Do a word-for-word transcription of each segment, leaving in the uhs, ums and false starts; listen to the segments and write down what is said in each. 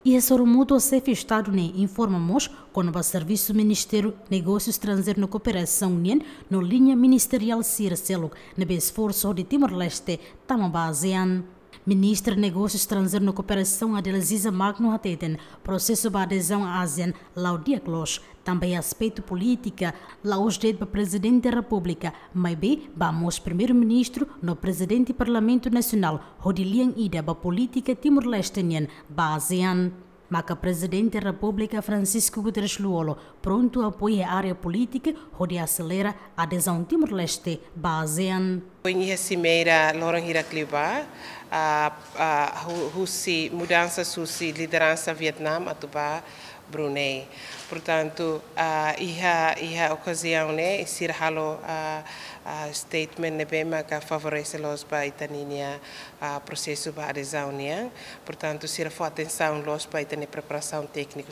Iha sorumutu, Xefe Estadu ne'e informa mós kona-ba servisu Ministériu Negósiu Estranjeiru no Kooperasaun nian no liña ministeriál sira seluk ne'ebé esforsu hodi Timor-Leste tama ba ASEAN. Ministra Negósiu Estranjeiru no Kooperasaun, Adelaziza Magno, hateten prosesu ba adezaun ASEAN la'o di'ak loos, tanba iha aspetu polítika la'ós de'it ba Prezidente Repúblika, maibé ba mós Primeiru-Ministru no Prezidente Parlamentu Nasionál, hodi lian ida ba polítika Timor-Leste nian ba ASEAN. Maka Prezidente Repúblika, Francisco Guterres Lú-Olo, prontu apoia área polítika hodi aselera adezaun Timor-Leste ba ASEAN. Foin iha simeira loron hirak liubá, ah, ah, hu-, husi mudansa husi lideransa Vietnam atu ba Brunei. Portantu, ah, iha, iha okaziaun ne'e, sira halo, ah, ah, statement ne'ebé maka favorese loos ba ita-nia, ah, prosesu ba adezaun nian. Portantu, sira fó atensaun loos ba ita-nia preparasaun tékniku.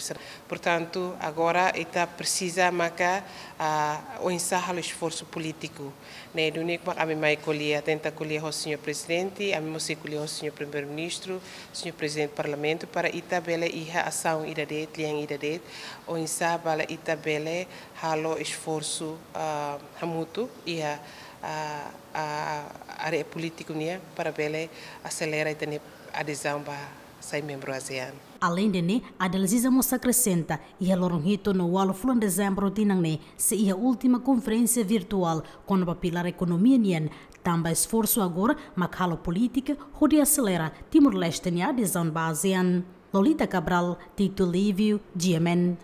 Portantu, agora ita presiza maka, ah, oinsá halo esforsu polítiku. Ne'e duni mak ami mai ko'alia, tenta ko'alia ho señór Prezidente, ami mós sei ko'alia ho señór Primeiru-Ministru, señór Prezidente Parlamentu, para ita bele iha asaun ida de'it, lian ida de'it, oinsá para ita bele halo esforsu, ah, hamutuk iha, ah, ah, área polítiku nian para bele aselera ita-nia adezaun ba sai membru ASEAN. Aleinde ne'e, Adelaziza mós akresenta, iha loron hitu no ualu fulan Dezembru tinan ne'e, sei iha última konferénsia virtuál kona-ba pilár ekonomia nian, tanba esforsu agora mak halo polítika hodi aselera Timor-Leste nia adezaun ba ASEAN. Lolita Cabral, Tito Livio, G M N.